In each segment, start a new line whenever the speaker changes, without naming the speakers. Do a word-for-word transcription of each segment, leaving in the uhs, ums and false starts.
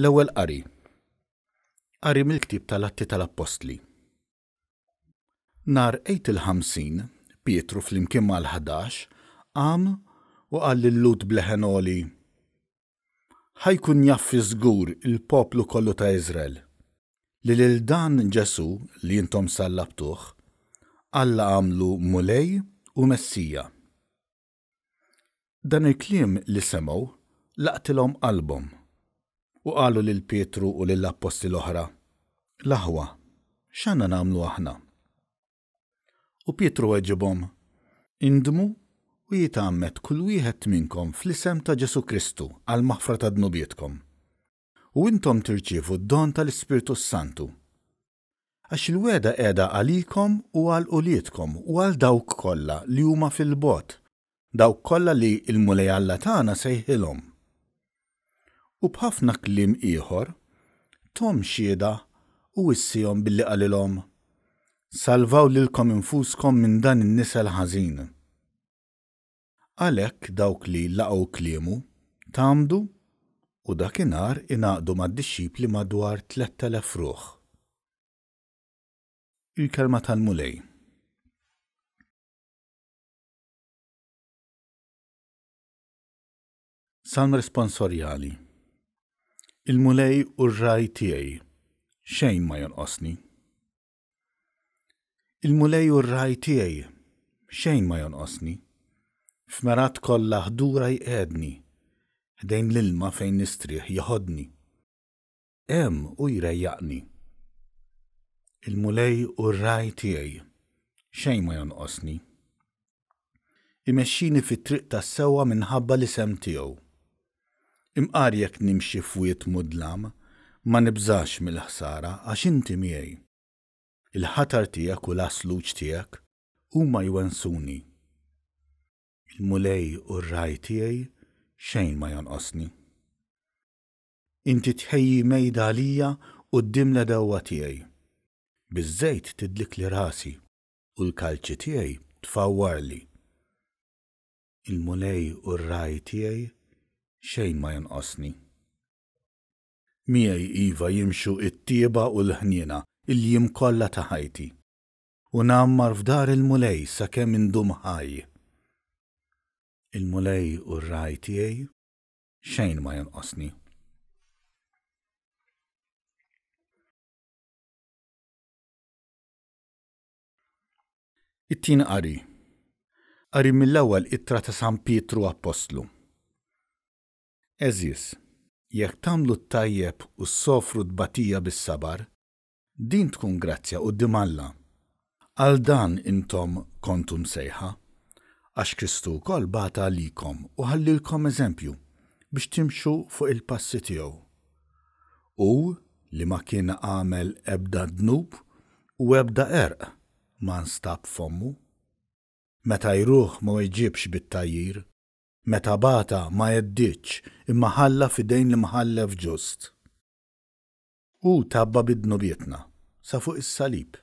L-Ewwel Qari. Qari mill-Ktieb tal-Atti tal-Appostli. Nhar Għid il-Ħamsin, Pietru flimkien mal-Ħdax qam u qal lil-Lhud b'leħen għoli, Ħa jkun jaf fiż-żgur il-poplu kollu ta' Iżrael, li lil dan Ġesù li intom sallabtuh, Alla għamlu Mulej u Messija. Dan il-kliem li semgħu laqtilhom qalbhom, u qalu lil Pietru u lill-appostli l-oħra, L-aħwa, x'għandna nagħmlu aħna? U Pietru weġibhom, Indmu u jitgħammed kull wieħed minnkom fl-isem ta' Ġesù Kristu għall-maħfra ta' dnubietkom, u intom tirċievu d-don tal-Ispirtu s-Santu. Għax il-wegħda qiegħda għalikom u għal uliedkom u għal dawk kollha li huma fil-bogħod, dawk kollha li l-Mulej Alla tagħna sejħilhom. U b'ħafna kliem ieħor thom xhieda u wissihom billi qalilhom, Salvaw lilkom infuskom minn dan in-nisel ħażin. Għalhekk dawk li laqgħu kliemu tgħammdu u dakinhar ingħaqdu mad-dixxipli madwar tlett elef ruħ. Il-Kelma tal-Mulej. Salm Responsorjali Il-Mulej hu r-ragħaj tiegħi, xejn ma jonqosni. Il-Mulej hu r-ragħaj tiegħi, xejn ma jonqosni. F'mergħat kollha ħdura jqiegħdni, ħdejn l-ilma fejn nistrieħ jeħodni. Hemm hu jrejjaqni. Il-Mulej hu r-ragħaj tiegħi, xejn ma jonqosni. Imexxini fit-triq tas-sewwa minħabba l-isem tiegħu. Imqar jekk nimxi f'wied mudlam, ma nibżax mill-ħsara għax inti miegħi. Il-ħatar tiegħek u l-għasluġ tiegħek huma jwensuni. Il-Mulej hu r-ragħaj tiegħi, xejn ma jonqosni. Inti tħejji mejda għalija quddiem l-għedewwa tiegħi. Biż-żejt tidlikli rasi u l-kalċi tiegħi tfawwarli. Il-Mulej hu r-ragħaj tiegħi, xejn ma jonqosni. Miegħi, iva, jimxu t-tjieba u l-ħniena il-jiem kollha ta' ħajti, u ngħammar f'dar il-Mulej sakemm indum ħaj. Il-Mulej hu r-ragħaj tiegħi, xejn ma jonqosni. It-Tieni Qari. Qari mill-ewwel ittra ta' San Pietru Appostlu. Għeżież, jekk tagħmlu t-tajjeb u ssofru t-tbatija bis-sabar, din tkun grazzja quddiem Alla. Għal dan intom kontu msejħa, għax Kristu wkoll bata għalikom u ħallielkom eżempju biex timxu fuq il-passi tiegħu. Hu li ma kien għamel ebda dnub u ebda qerq ma nstab f'fommu. Meta jruh ma weġibx bit-tgħajjir, meta bata ma għedditx imma ħalla f'idejn l-Imħallef ġust. Hu tgħabba bi dnubietna sa fuq is-salib,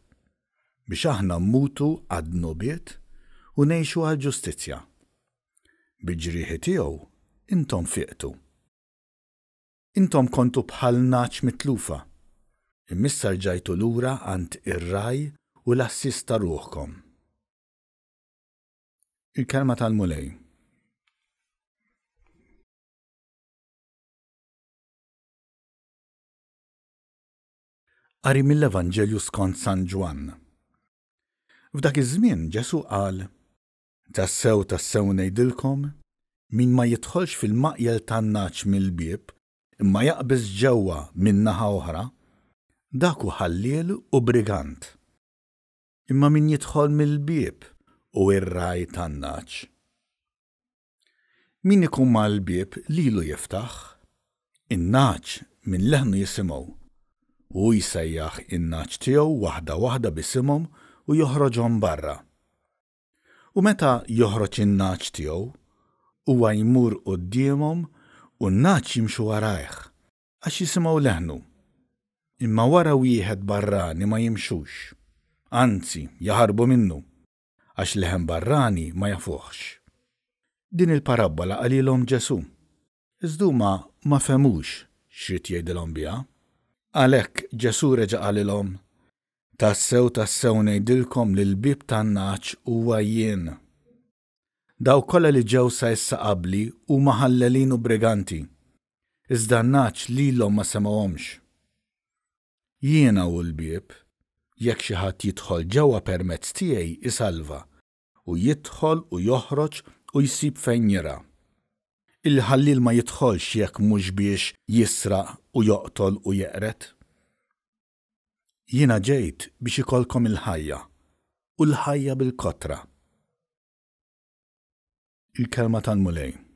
biex aħna mmutu għad-dnubiet u ngħixu għall-ġustizzja. Bil-ġrieħi tiegħu intom fiqtu. Intom kontu bħal nagħaġ mitlufa, imma issa rġajtu lura għand ir-Ragħaj u l-Għassies ta' ruħkom. Il-Kelma tal-Mulej. Qari mill-Evanġelju skont San Ġwann. F'dak iż-żmien Ġesù qal, Tassew tassew ngħidilkom, min ma jidħolx fil-maqjel tan-nagħaġ mill-bieb, imma jaqbeż ġewwa minn naħa oħra, dak hu ħalliel u brigant. Imma min jidħol mill-bieb hu r-ragħaj tan-nagħaġ. Min ikun mal-bieb lilu jiftaħ. In-nagħaġ minn leħnu jisimgħu. Hu jsejjaħ in-nagħaġ tiegħu waħda waħda b'isimhom u joħroġhom barra. U meta joħroġ in-nagħaġ tiegħu, huwa jmur quddiemhom u n-nagħaġ jimxu warajh, għax jisimgħu leħnu. Imma wara wieħed barrani ma jimxux, anzi jaħarbu minnu, għax leħen barrani ma jafuhx. Din il-parabbola qalilhom Ġesù, iżda huma ma fehmux x'ried jgħidilhom biha. Għalhekk Ġesù reġa' qalilhom, Tassew tassew ngħidilkom li l-bieb tan-nagħaġ huwa jien. Dawk kollha li ġew sa issa qabli huma ħallelin u briganti, iżda n-nagħaġ lilhom ma semgħuhomx. Jiena hu l-bieb, jekk xi ħadd jidħol ġewwa permezz tiegħi isalva, u jidħol u joħroġ u jsib fejn jirgħa. Il-ħalliel ma jidħolx jekk mhux biex jisraq u joqtol u jeqred. Jiena ġejt biex ikollkom il-ħajja, u l-ħajja bil-kotra. Il-Kelma tal-Mulej.